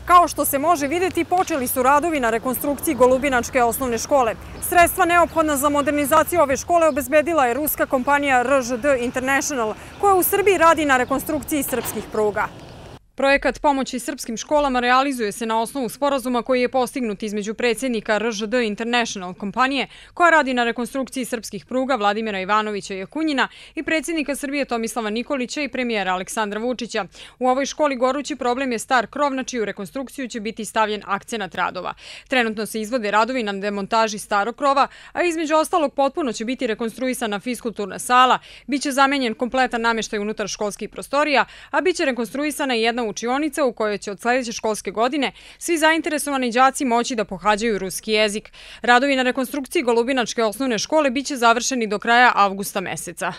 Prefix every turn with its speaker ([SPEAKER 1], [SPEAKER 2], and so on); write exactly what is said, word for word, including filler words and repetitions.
[SPEAKER 1] Kao što se može vidjeti, počeli su radovi na rekonstrukciji Golubinačke osnovne škole. Sredstva neophodna za modernizaciju ove škole obezbedila je ruska kompanija R Ž D International, koja u Srbiji radi na rekonstrukciji srpskih pruga. Projekat pomoći srpskim školama realizuje se na osnovu sporazuma koji je postignut između predsjednika R Ž D International kompanije, koja radi na rekonstrukciji srpskih pruga Vladimira Ivanovića Jakunjina, i predsjednika Srbije Tomislava Nikolića i premijera Aleksandra Vučića. U ovoj školi gorući problem je star krov, na čiju rekonstrukciju će biti stavljen akcenat radova. Trenutno se izvode radovi na demontaži starog krova, a između ostalog potpuno će biti rekonstruisana fiskulturna sala, biće zamenjen kompletan namještaj unutar školskih prostorija, a biće rekonstruisana i jedna učionica u kojoj će od sljedeće školske godine svi zainteresovani đaci moći da pohađaju ruski jezik. Radovi na rekonstrukciji Golubinačke osnovne škole biće završeni do kraja avgusta meseca.